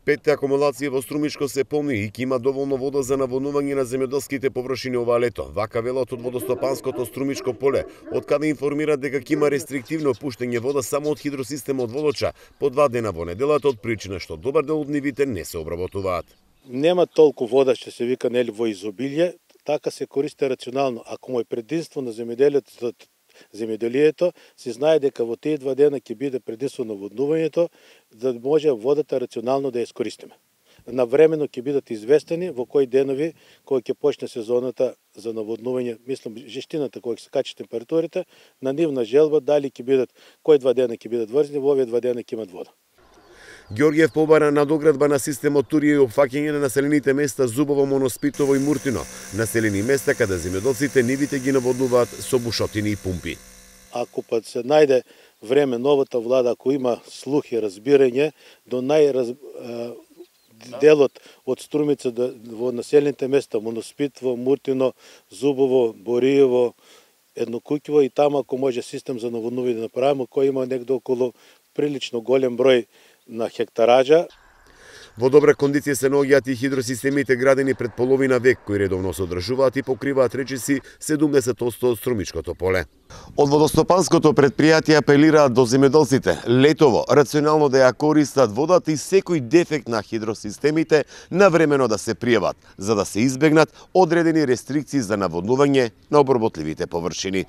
5 акумулации во Струмичко се полни и ќе има доволно вода за наводнување на земјоделските површини ова лето. Вака велат од водостопанското Струмичко поле, од каде информираат дека ќе има рестриктивно пуштање вода само од хидросистемот Волоча по 2 дена во неделата од причина што добар дел од нивите не се обработуваат. Нема толку вода што се вика нели во изобилие, така се користи рационално. Ако му е предимство на земјоделието, се знае дека во тие 2 дена ќе биде предимство на наводнувањето, за да може водата рационално да ја искористиме. Навремено ќе бидат известени во кои денови, кога ќе почне сезоната за наводнување, мислам жештината кога ќе се качи температурите, на нивна желба дали ќе бидат кои 2 дена ќе бидат врзни, во овие 2 дена ќе имат вода. Ѓорѓев побара надоградба на системот Турија и опфаќање на населените места Зубово, Моноспитово и Муртино, населени места каде земјоделците нивите ги наводнуваат со бушотини и пумпи. Ако пат се најде време новата влада, ако има слух и разбирање, до делот од Струмица во населените места Моноспитово, Муртино, Зубово, Бориево, Еднокуќево и таму ако може систем за наводнување да направиме, кој има негде околу прилично голем број на хектаража. Во добра кондиција се наоѓаат и хидросистемите градени пред половина век, кои редовно се одржуваат и покриваат речиси 70% од Струмичкото поле. Од водостопанското претпријатие апелираат до земјоделците летово рационално да ја користат водата и секој дефект на хидросистемите навремено да се пријават, за да се избегнат одредени рестрикции за наводнување на обработливите површини.